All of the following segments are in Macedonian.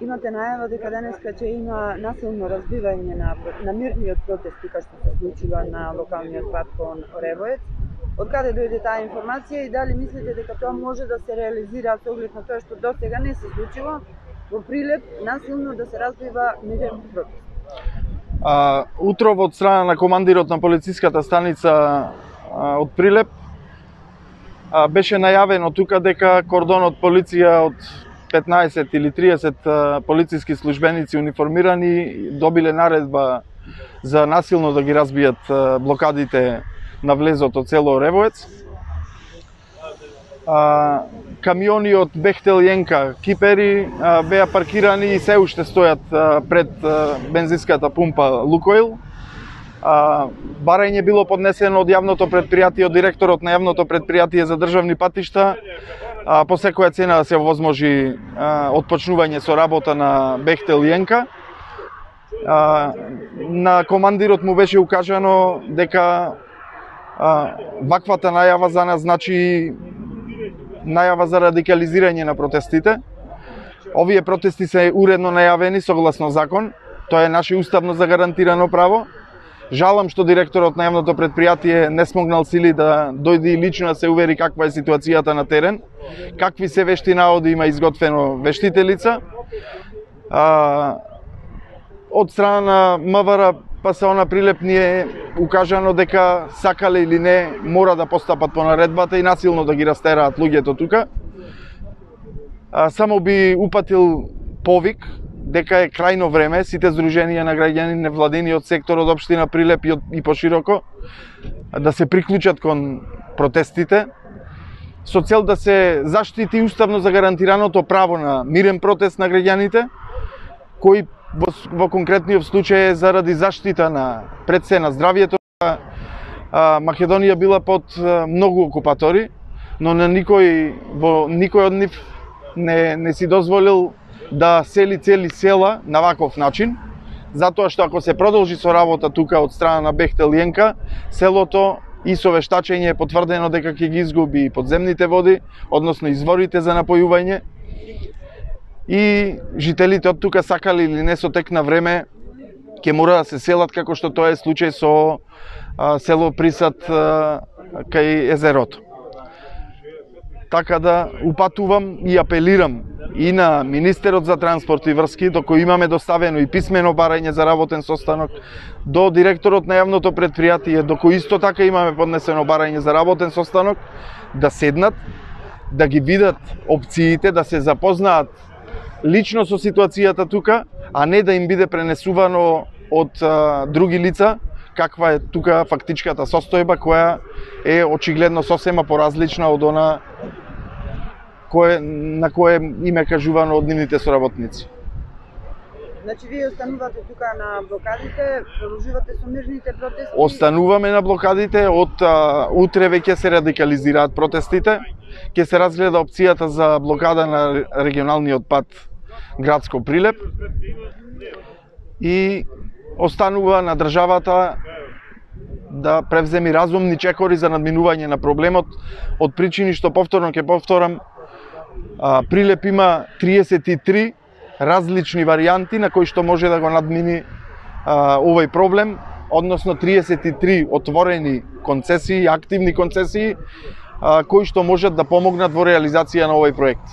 Имате најава дека денеска ќе има насилно разбивање на мирниот протести кој што се случува на локалниот пат кон Оревоец. Од каде дојде таа информација и дали мислите дека тоа може да се реализира со оглед на тоа што досега не се случило во Прилеп насилно да се разбива мирен протест? Утро од страна на командирот на полициската станица од Прилеп беше најавено тука дека кордонот полиција од 15 или 30 полициски службеници униформирани добиле наредба за насилно да ги разбијат блокадите на влезот од село Оревоец. Камиони од Бехтел Јенка Кипери беа паркирани и се уште стојат пред бензинската пумпа Лукойл. Барање било поднесено од јавното предпријатие, од директорот на јавното предпријатие за државни патишта, по секоја цена да се овозможи отпочнување со работа на Бехтел Јенка. На командирот му беше укажано дека ваквата најава за нас значи најава за радикализирање на протестите. Овие протести се уредно најавени согласно закон, тоа е наше уставно загарантирано право. Жалам што директорот на јавното предпријатие не смогнал сили да дојде и лично да се увери каква е ситуацијата на терен, какви се вешти наводи има изготвено вештителица. Од страна на МВР ПСО на Прилеп ни е укажано дека сакале или не мора да постапат по наредбата и насилно да ги растераат луѓето тука. Само би упатил повик дека е крајно време сите здруженија на граѓани, невладениот сектор од општина Прилеп и пошироко да се приклучат кон протестите со цел да се заштити уставно загарантираното право на мирен протест на граѓаните, кој во конкретниот случај е заради заштита на пред се на здравјето. Македонија била под многу окупатори, но на никој од нив не си дозволил да сели цели села на ваков начин, затоа што ако се продолжи со работа тука од страна на Бехтел Јенка, селото и со вештачење е потврдено дека ќе ги изгуби подземните води, односно изворите за напојување, и жителите од тука сакали или не со тек на време ќе мора да се селат како што тоа е случај со село Присад кај езерото. Така да упатувам и апелирам и на министерот за транспорт и врски, до кој имаме доставено и писмено барање за работен состанок, до директорот на јавното предпријатие, до кој исто така имаме поднесено барање за работен состанок, да седнат, да ги видат опциите, да се запознаат лично со ситуацијата тука, а не да им биде пренесувано од други лица каква е тука фактичката состојба, која е очигледно сосема поразлична од она на кое им е кажувано од нивните соработници. Значи, вие останувате тука на блокадите, продолжувате со мирните протести? Остануваме на блокадите, од утре веќе се радикализираат протестите. Ќе се разгледа опцијата за блокада на регионалниот пат градско Прилеп и останува на државата да превземи разумни чекори за надминување на проблемот, од причини што повторно ќе повторам, Прилеп има 33 различни варијанти на кои што може да го надмини овој проблем, односно 33 отворени концесии, активни концесии, кои што можат да помогнат во реализација на овој проект.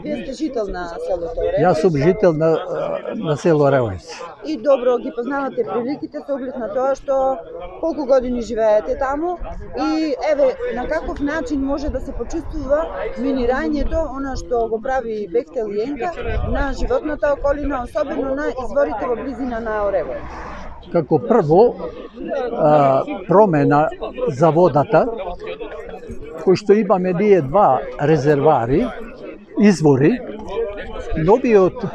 Вие сте жител на селото Оревоец? Јас сум жител на село Оревоец. И добро ги познавате приликите со оглед на тоа што колку години живеете таму и еве на каков начин може да се почувствува минирањето, она што го прави Бехтел Јенка на животната околина, особено на изворите во близина на Оревоец. Како прво, промена за водата, кој што имаме ние два резервари, извори, новиот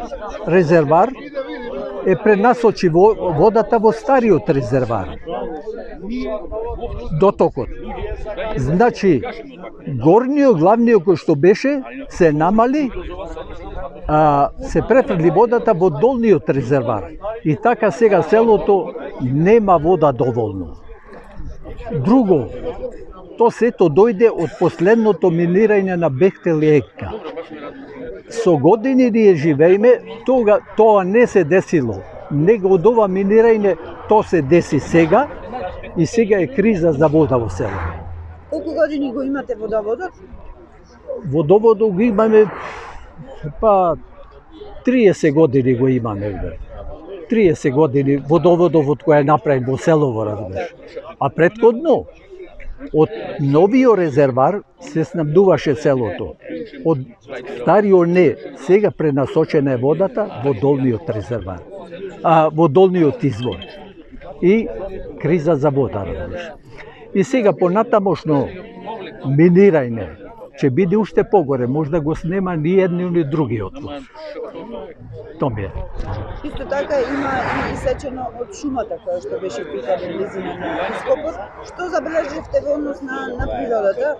резервар е пренасочи водата во стариот резервар, дотокот. Значи, горниот, главниот кој што беше, се намали, се префрли водата во долниот резервар. И така сега селото нема вода доволно. Друго, то сето дојде од последното минирање на Бехтелиенка. Со години ние живееме, тоа не се десило. Него од ова минирање то се деси сега и сега е криза за вода во село. Колку години го имате водоводот? Водоводот го имаме 30 години го имаме. 30 години водоводов од кој е направен во селово, разбираш. А претходно од новиот резервар се снабдуваше селото. Од стариот не, сега пренасочена е водата во долниот резервар, во долниот извор. И криза за вода, разбираш. И сега понатамошно минирање ќе биде уште погоре, може да го снема ни едни ни другиот. Тоа ми е. Исто така има и исечено од шумата која што беше тука во близина на ископот. Што забележивте во однос на природата?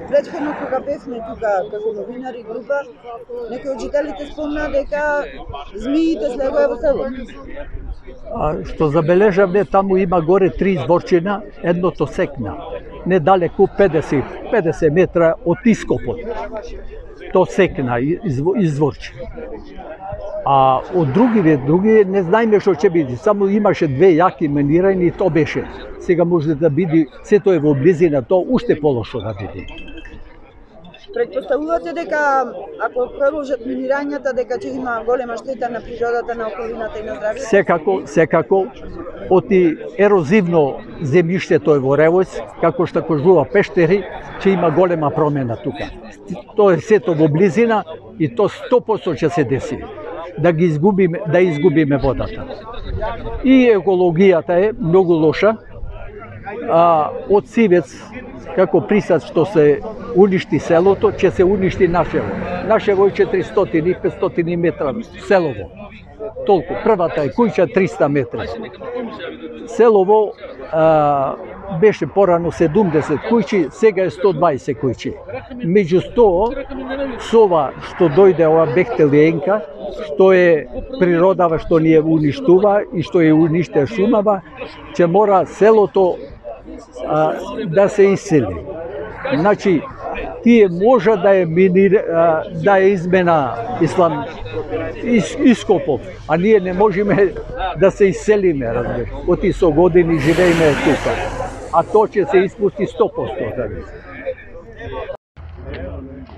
Претходно кога бевме тука како новинари група, некои од жителите спомна дека змиите слегоа во село. Што забележавме, таму има горе 3 изворчина, едното секна. Недалеку 50 метра од ископот. То секна изворче. А од други не знаеме што ќе биде. Само имаше 2 јаки минирања и то беше. Сега може да биде, сето е во близина, то уште полошо да биде. Предпоставувате дека ако продолжат минирањата дека ќе има голема штета на природата, на околината и на здравјето? Секако, оти ерозивно земјиштето е во Ревојц, како што кажува Пештери, ќе има голема промена тука. Тоа е сето во близина и то 100% ќе се деси. Да изгубиме водата. И екологијата е многу лоша. Од Сивец, како присад што се уништи селото, ќе се уништи Нашево. Нашево е 400-500 метра селово. Толку. Првата е куќа 300 метра. Селово беше порано 70 куќи, сега е 120 куќи. Меѓу 100, со ова што дојде ова Бехтелиенка, што е природава што ни ја уништува и што ја униште шумава, ќе мора селото да се исели. Значи, тие може да е измена ископов, а ние не можеме да се иселиме, разбираш. Оти со години живееме тука, а тоа ќе се испусти 100%.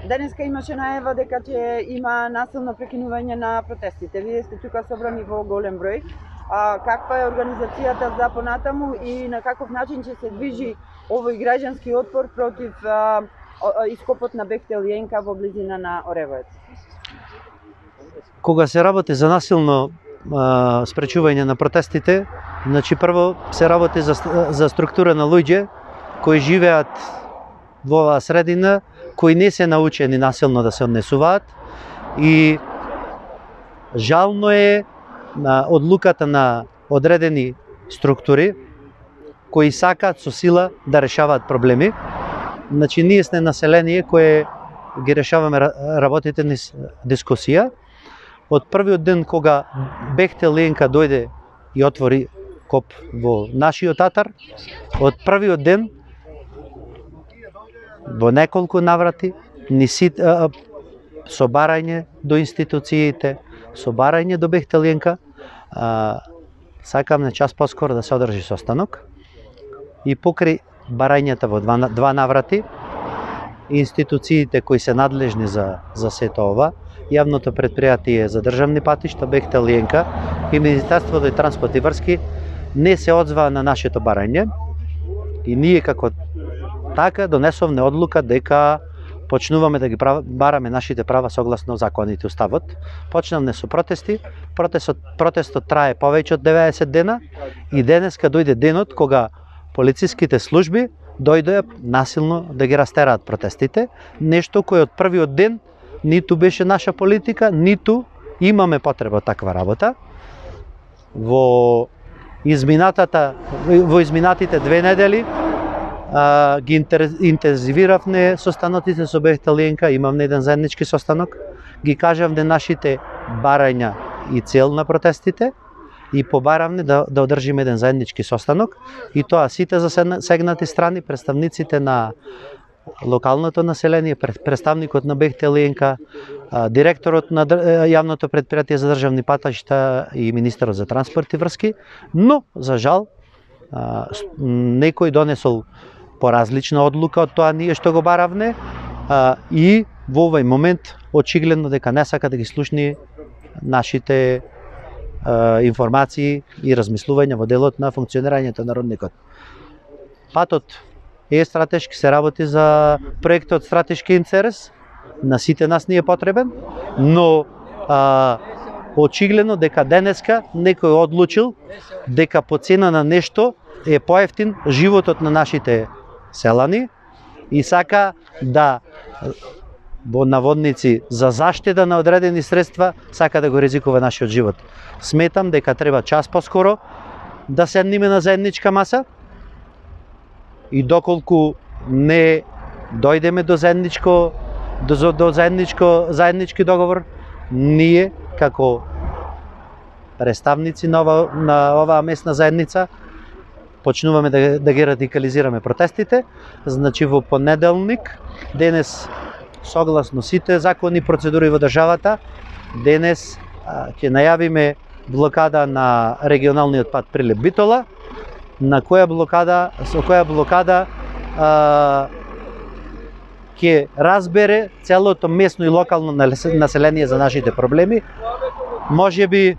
Денеска имаше најава дека ќе има насилно прекинување на протестите. Вие сте тука собрани во голем број. Каква е организацијата за понатаму и на каков начин ќе се движи овој граѓански отпор против ископот на Бехтелиенка во близина на Оревојец? Кога се работи за насилно спречување на протестите, значи прво се работи за структура на луѓе кои живеат во оваа средина, кои не се научени насилно да се однесуваат и жално е на одлуката на одредени структури кои сакаат со сила да решаваат проблеми. Значи ние сме население кое ги решаваме работите низ дискусија. Од првиот ден кога Бехтелиенка дојде и отвори коп во нашиот татар, од првиот ден во неколку наврати собарање до институциите, собарање до Бехтелиенка, сакам на час поскоро да се одржи состанок и покрај барањата во два наврати, институциите кои се надлежни за сето ова, јавното предпријатие за државни патишта Бехтелиенка и Министерството и транспорт и врски не се одзваа на нашето барање и ние како така донесовме одлука дека почнуваме да ги бараме нашите права согласно законите, уставот. Почнавме со протести, протестот трае повеќе од 90 дена и денеска дојде денот кога полициските служби дојдоа насилно да ги растераат протестите, нешто кое од првиот ден ниту беше наша политика, ниту имаме потреба од таква работа. Во изминатите 2 недели ги интензивиравме состаноците со Бехтелиенка, имавме еден заеднички состанок, ги кажавме нашите барања и цел на протестите и побаравме да одржиме еден заеднички состанок и тоа сите засегнати страни, представниците на локалното население, представникот на БХТЛ, директорот на јавното предпријатие за државни патишта и министерот за транспорт и врски, но за жал некој донесол поразлична одлука од тоа ние што го баравне и во овој момент очигледно дека не сака да ги слушни нашите информации и размислувања во делот на функционирањето на родникот. Патот е стратешки, се работи за проектот стратешки интерес, на сите нас ни е потребен, но очигледно дека денеска некој одлучил дека по цена на нешто е поевтин животот на нашите селани и сака да во наводници за заштита на одредени средства сака да го ризикува нашиот живот. Сметам дека треба час поскоро да седниме на заедничка маса и доколку не дојдеме до заеднички договор, ние како представници на оваа местна заедница почнуваме да ги радикализираме протестите. Значи во понеделник, денес согласно сите закони и процедури во државата, денес ќе најавиме блокада на регионалниот пат Прилеп-Битола, со која блокада ќе разбере целото местно и локално население за нашите проблеми. Можеби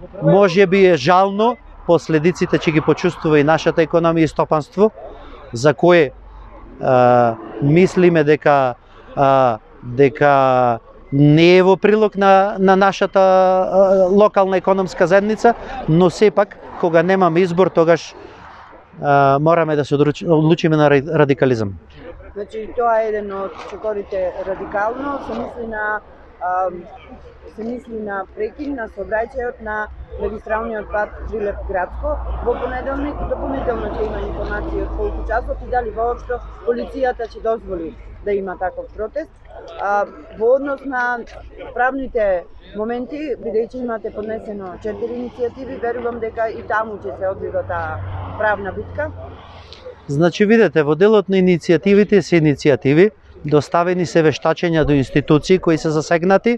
е жално, последиците ќе ги почувствува и нашата економија и стопанство, за кое мислиме дека не е во прилог на нашата локална економска заедница, но сепак кога немаме избор, тогаш мораме да се одлучиме на радикализам. Значи тоа е еден од чекорите радикално, се мисли на прекин на сообраќајот на магистралниот пат Прилеп-Градско. Во понеделник допълнително ќе има информации од колку часот и дали воопшто полицијата ќе дозволи да има таков протест. Во однос на правните моменти, бидејќи имате поднесено 4 иницијативи, верувам дека и таму ќе се одвива таа правна битка. Значи, видете, во делот на иницијативите се иницијативи, доставени се вештачења до институции кои се засегнати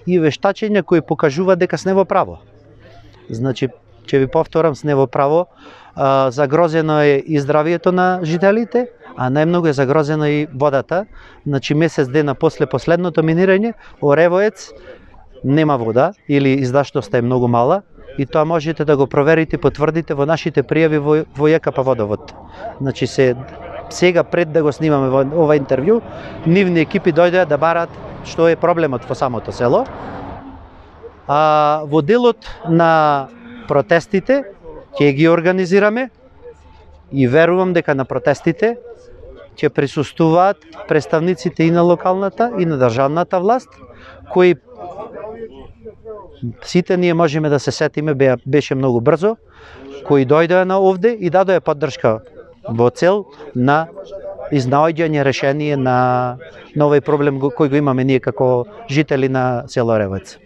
и вештачења кои покажуваат дека сме во право. Значи, ќе ви повторам, сме во право, загрозено е и здравието на жителите, а најмногу е загрозена и водата. Значи, месец дена после последното минирање, Оревоец нема вода или издаштоста е многу мала и тоа можете да го проверите и потврдите во нашите пријави во ЈКП Водовод. Значи, сега пред да го снимаме ова интервју, нивни екипи дојдоа да барат што е проблемот во самото село. Во делот на протестите ќе ги организираме и верувам дека на протестите ќе присуствуваат представниците и на локалната и на државната власт, кои сите ние можеме да се сетиме, беше многу брзо, кои дојдоа на овде и дадоа поддршка во цел на изнаоѓање решение на овој проблем кој го имаме ние како жители на село Оревоец.